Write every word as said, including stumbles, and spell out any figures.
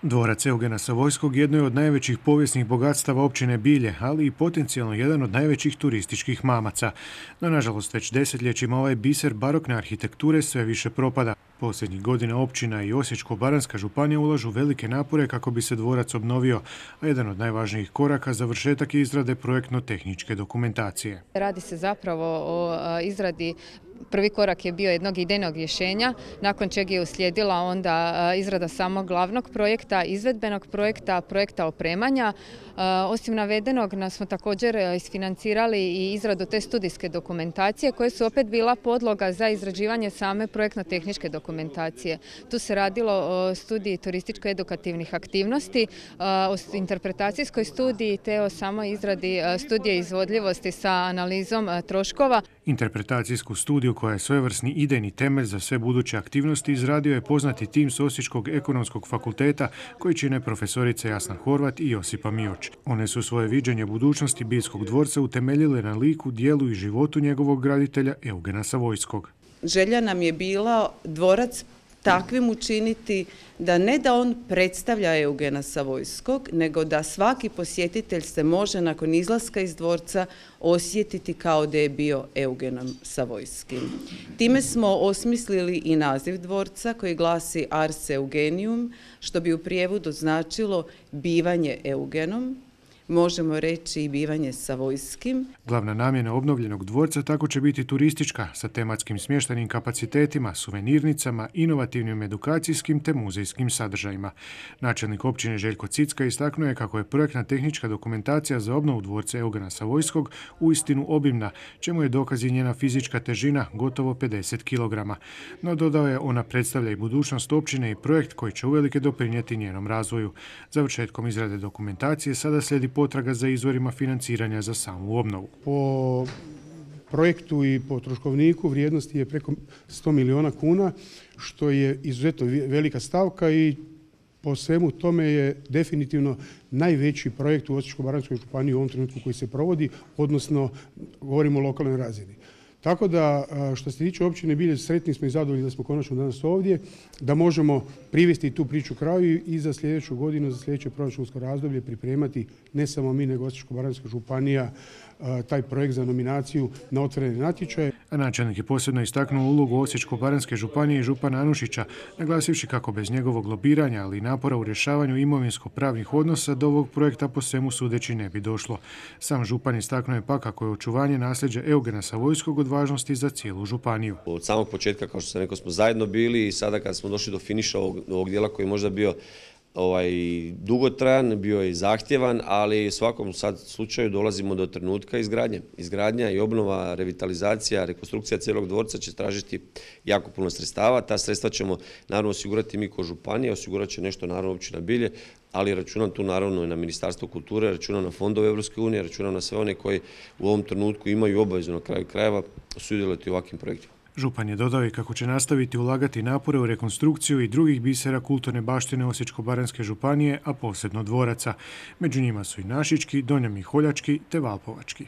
Dvorac Eugena Savojskog jedno je od najvećih povijesnih bogatstava općine Bilje, ali i potencijalno jedan od najvećih turističkih mamaca. No, nažalost, već desetljećima ovaj biser barokne arhitekture sve više propada. Posljednjih godina općina i Osječko-baranjska županija ulažu velike napore kako bi se dvorac obnovio, a jedan od najvažnijih koraka završetak je izrade projektno-tehničke dokumentacije. Radi se zapravo o izradi. Prvi korak je bio jednog idejnog rješenja, nakon čega je uslijedila onda izrada samog glavnog projekta, izvedbenog projekta, projekta opremanja. Osim navedenog smo također isfinancirali i izradu te studijske dokumentacije koje su opet bila podloga za izrađivanje same projektno-tehničke dokumentacije. Tu se radilo o studiji turističko-edukativnih aktivnosti, o interpretacijskoj studiji te o samoj izradi studije izvodljivosti sa analizom troškova. Interpretacijsku studiju koja je svojevrsni idejni temelj za sve buduće aktivnosti izradio je poznati tim s Osječkog ekonomskog fakulteta koji čine profesorice Jasna Horvat i Josipa Mioč. One su svoje viđenje budućnosti Biljskog dvorca utemeljile na liku, dijelu i životu njegovog graditelja Eugena Savojskog. Želja nam je bila dvorac takvim učiniti da ne da on predstavlja Eugena Savojskog, nego da svaki posjetitelj se može nakon izlaska iz dvorca osjetiti kao da je bio Eugenom Savojskim. Time smo osmislili i naziv dvorca koji glasi Ars Eugenium, što bi u prijevodu značilo bivanje Eugenom, možemo reći i bivanje Savojskim. Glavna namjena obnovljenog dvorca tako će biti turistička, sa tematskim smještajnim kapacitetima, suvenirnicama, inovativnim edukacijskim te muzejskim sadržajima. Načelnik općine Željko Cicka istaknuo je kako je projektna tehnička dokumentacija za obnovu dvorca Eugena Savojskog uistinu obimna, čemu je dokaz i njena fizička težina, gotovo pedeset kilograma. No, dodao je, ona predstavlja i budućnost općine i projekt koji će uvelike doprinijeti njenom razvoju. Završetkom izrade dokumentacije sada slijedi potraga za izvorima financiranja za samu obnovu. Po projektu i po troškovniku vrijednosti je preko sto milijuna kuna, što je izuzetno velika stavka i po svemu tome je definitivno najveći projekt u Osječko-baranjskoj županiji u ovom trenutku koji se provodi, odnosno govorimo o lokalnoj razini. Tako da, što se tiče općine Bilje, sretni smo i zadovoljni da smo konačno danas ovdje, da možemo privesti tu priču kraju i za sljedeću godinu, za sljedeće proračunsko razdoblje pripremati ne samo mi, nego Osječko-baranjska županija taj projekt za nominaciju na otvorene natječaje. A načelnik je posebno istaknuo ulogu Osječko-baranjske županije i župana Anušića, naglasivši kako bez njegovog lobiranja, ali i napora u rješavanju imovinsko-pravnih odnosa do ovog projekta po svemu sudeći ne bi došlo. Sam župan istaknuo je pa kako je očuvanje nasljeđa Eugena Savojskog od važnosti za cijelu županiju. Od samog početka, kao što sam rekao, smo zajedno bili i sada kad smo došli do finiša ovog, ovog dijela koji je možda bio ovaj, dugotrajan, bio je zahtjevan, ali u svakom sad slučaju dolazimo do trenutka izgradnje. Izgradnja i obnova, revitalizacija, rekonstrukcija cijelog dvorca će tražiti jako puno sredstava. Ta sredstva ćemo naravno osigurati mi kao županija, osigurat će nešto naravno općina Bilje, ali računam tu naravno i na Ministarstvo kulture, računam na fondove Europske unije, računam na sve one koji u ovom trenutku imaju obavezu na kraju krajeva sudjelovati u ovakvim projektima. Župan je dodao i kako će nastaviti ulagati napore u rekonstrukciju i drugih bisera kulturne baštine Osječko-baranjske županije, a posebno dvoraca. Među njima su i Našički, Donja Miholjački te Valpovački.